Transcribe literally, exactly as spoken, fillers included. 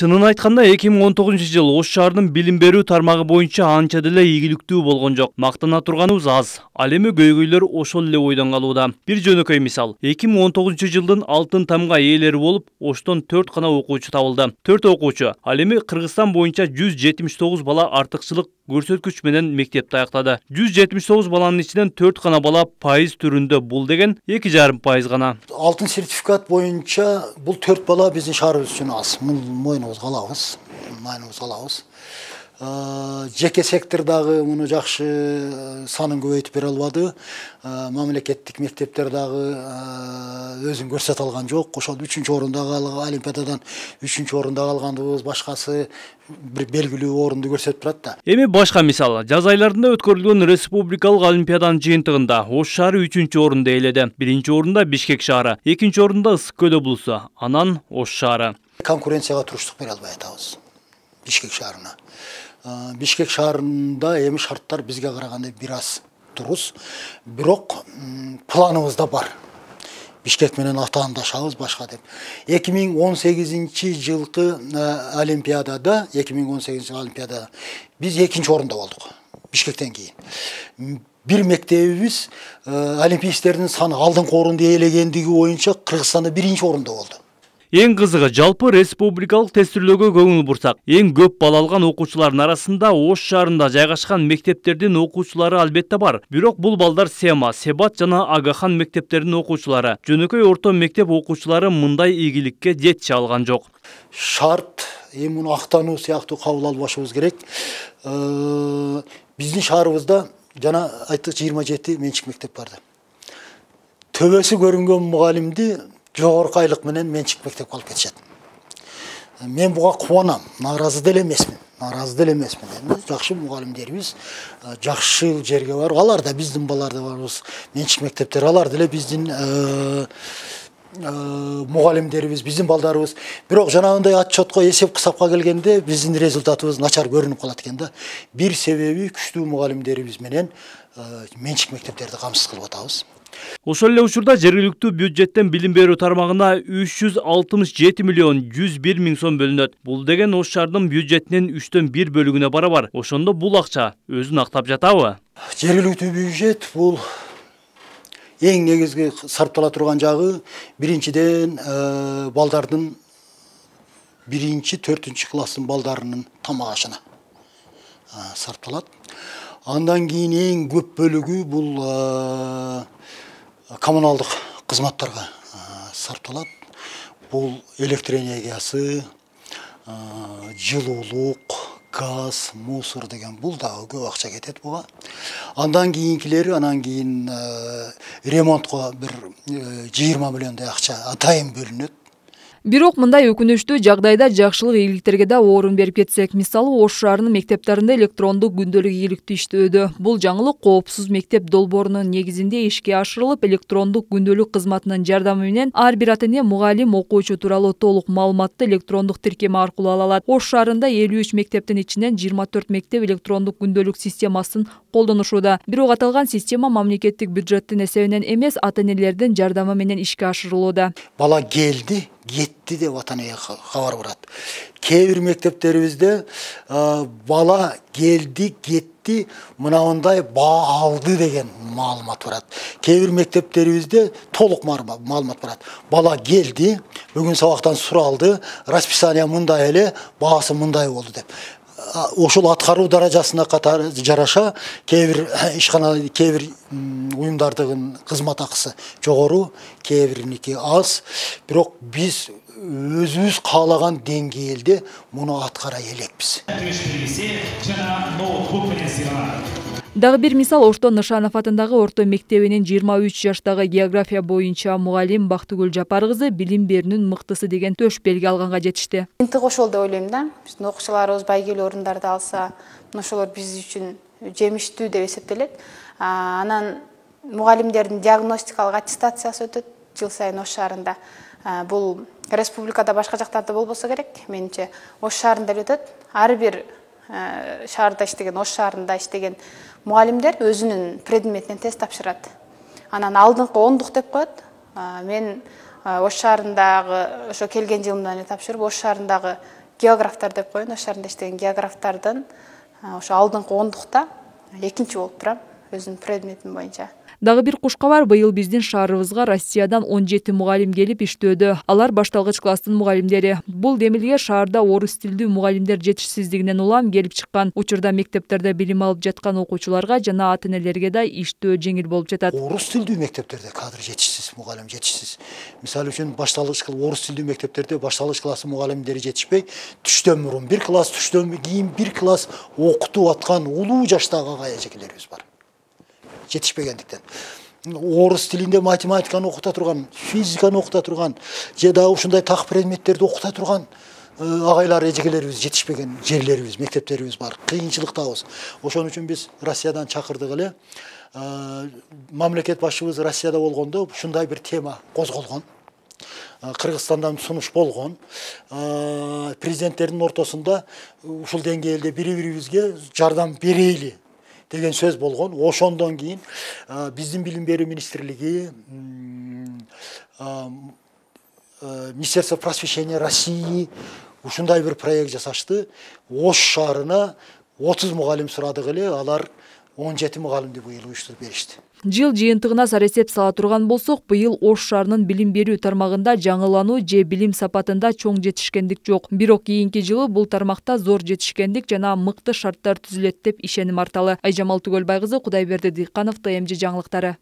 Чынын айтканда эки миң он тогузунчу жыл Ош шаарынын билим берүү тармагы боюнча анча деле ийгиликтүү болгон жок. Мактана турганыбыз аз. Ал эми көйгөйлөр ошол эле бойдон калууда. Бир жөнөкөй мисал. эки миң он тогузунчу жылдын алтын тамга ээлери болуп, Оштон төрт гана окуучу табылды. төрт окуучу. Ал эми Кыргызстан боюнча жүз жетимиш тогуз бала артыкчылык көрсөткүч менен мектепти аяктады. жүз жетимиш тогуз баланын ичинен төрт гана бала пайыз түрүндө, бул деген эки жарым пайыз гана. Алтын сертификат боюнча бул төрт бала биздин шаарыбыз үчүн аз. Мойнубузга алабыз. Мойнубузга алабыз. Жеке сектордагы муну жакшы санын көбөйтүп бере албады. Мамлекеттик мектептер дагы өзүн көрсөтө алган жок. Ошол үчүнчү орундагы олимпиададан үчүнчү орунда калганыбыз, башкасы бир белгилүү орунду көрсөтүп турат да. Эми башка мисал. Жаз айларында өткөрүлгөн республикалык олимпиаданын жыйынтыгында Ош шаары үчүнчү орунду ээледи. Биринчи орунда Бишкек шаары, экинчи орунда Ысык Көл облусу, анан Ош шаары. Конкуренцияга туруштук бере албай атабыз Бишкек шаарына. Бишкек шаарында эми шарттар бизге караганда бир аз турус, бирок планыбызда бар. Бишкек менен атаандашабыз башка деп. эки миң он сегизинчи жылкы олимпиадада, эки миң он сегизинчи олимпиадада биз экинчи орунда болдук. Бишкектен кийин. Бир мектебибиз олимпийсктердин саны алдыңкы орунду ээлегендиги боюнча Кыргызстанда биринчи орунда болду. Эң кызыгы, жалпы республикалык тестирлөөгө көңүл бурсак, эң көп балл алган окуучулардын арасында Ош шаарында жайгашкан мектептердин окуучулары албетте бар. Бирок бул балдар Сема, Себат жана Агахан мектептеринин окуучулары. Жөнөкөй орто мектеп окуучулары мындай ийгиликке жетише алган жок. Шарт эми муну актануу сыяктуу кабыл албашыбыз керек. Биздин шаарыбызда жана айттык жыйырма жети менчик мектеп бар. Төбөсү көрүнгөн мугалимди жогорку айлык менен менчик мектепке алып кетишет. Мен буга кубанам, нааразы деле эмесмин. Нааразы деле эмесмин. Жакшы мугалимдерибиз жакшы жерге бар. Алар да биздин балдар да барбыз. Менчик мектептер алар деле биздин мугалимдерибиз, биздин балдарыбыз. Бирок жанагындай отчетко, эсеп кысапка келгенде биздин результатыбыз начар көрүнүп калат экен да. Бир себеби күчтүү мугалимдерибиз менен менчик мектептерди камсыз кылып атабыз. Ошол эле учурда жергиликтүү бюджеттен билим берүү тармагына үч жүз алтымыш жети миллион жүз бир миң сом бөлүнөт. Бул деген Ош шаарынын бюджетинин үчтөн бир бөлүгүнө барабар. Ошондо бул акча өзүн актап жатабы? Жергиликтүү бюджет бул эң негизги сарптала турган жагы биринчиден балдардын биринчи төртүнчү класстын балдарынын тамак ашына сарпталат. Андан кийин эң көп бөлүгү бул коммуналдык кызматтарга сарпталат. Бул электр энергиясы, жылуулук, газ, мусор деген бул дагы көп акча кетет буга. Андан кийинкилери, анан кийин ремонтко бир жыйырма миллиондой акча атайын бөлүнөт. Бирок мындай өкүнүчтүү жагдайда жакшылык ийгиликтерге да орун берип кетсек, мисалы Ош шаарынын мектептеринде электрондук күндөлүк ийгиликтүү иштөөдө. Бул жаңылык коопсуз мектеп долбоорунун негизинде ишке ашырылып, электрондук күндөлүк кызматынын жардамы менен ар бир ата-эне мугалим окуучу тууралуу толук маалыматты электрондук тиркеме аркылуу ала алат. Ош шаарында элүү үч мектептин ичинен жыйырма төрт мектеп электрондук күндөлүк системасын колдонушууда. Бирок аталган система мамлекеттик бюджеттин эсебинен эмес, ата-энелердин жардамы менен ишке ашырылууда. Бала келди, кетти деп ата-энеге кабар барат. Кээ бир мектептерибизде бала келди, кетти, мынандай баа алды деген маалымат барат. Кээ бир мектептерибизде толук маалымат барат. Бала келди, бүгүн сабактан суралды, расписание мындай эле, баасы мындай болду деп. Ошол аткаруу даражасына катары жараша кээ бир ишкана, кээ бир уюмдардын кызмат акысы жогору, кээ бириники аз. Бирок биз өзүбүз каалаган деңгээлде муну аткара элекпиз. Дагы бир мисал Оштон Нышанов атындагы орто мектебинин жыйырма үч жаштагы география боюнча мугалим Бактыгүл Жапар кызы билим берүүнүн мыктысы деген төш белги алганга жетишти. Интик ошол деп ойлойм да. Биздин окуучуларыбыз байгелүү орундарды алса, ошолор биз үчүн жемиштүү деп эсептелет. Анан мугалимдердин диагностикалык аттестациясы өтөт жыл сайын Ош шаарында. Бул республикада башка жактарда болбосо керек, менимче Ош шаарында өтөт. Ар бир шаарда иштеген, Ош шаарында иштеген мугалимдер өзүнүн предметинен тест тапшырат. Анан алдыңкы ондук деп коет. Мен Ош шаарындагы ошо келген жылымдан эле тапшырып, Ош шаарындагы географтар деп коеюн, ош шаарында иштеген географтардын ошо алдыңкы ондукта экинчи болуп турам өзүмдүн предметим боюнча. Дагы бир куш кабар, быйыл биздин шаарыбызга Россиядан он жети мугалим келип иштөөдө. Алар башталгыч класстын мугалимдери. Бул демилге шаарда орус тилдүү мугалимдер жетишсиздигинен улам келип чыккан. Учурда мектептерде билим алып жаткан окуучуларга жана ата энелерге да иштөө жеңил болуп жатат. Орус тилдүү мектептерде кадр жетишсиз, мугалим жетишсиз. Мисалы үчүн башталгыч орус тилдүү мектептерде башталгыч класстын мугалимдери жетишпей, түштөн мурун бир класс, түштөн кийин бир класс окутуп аткан улуу жаштагы ага эжекелерибиз бар. Жетишпегендиктен. Орус тилинде математиканы окута турган, физиканы окута турган, же дагы ушундай так предметтерди окута турган агайлар, эжекелерибиз жетишпеген жерлерибиз, мектептерибиз бар. Кыйынчылыктабыз. Ошон үчүн биз Россиядан чакырдык эле. Мамлекет башчыбыз Россияда болгондо ушундай бир тема козголгон. Кыргызстандан сунуш болгон. Президенттердин ортосунда ушул деңгээлде бири-бирибизге жардам берейли деген сөз болгон. Ошондон кийин биздин билим берүү министрлиги, Министерство просвещения России ушундай бир проект жасашты. Ош шаарына отуз мугалим сурадык эле, алар он жети мугалимди быйыл уюштуруп беришти. Жыл жыйынтыгына сарэсеп сала турган болсок, быйыл Ош шаарынын билим берүү тармагында жаңылануу же билим сапатында чоң жетишкендик жок. Бирок кийинки жылы бул тармакта зор жетишкендик жана мыкты шарттар түзүлөт деп ишеним арталы. Айжамал Түгөлбай кызы, Кудайберди Дыйканов, Т М Ж жаңылыктары.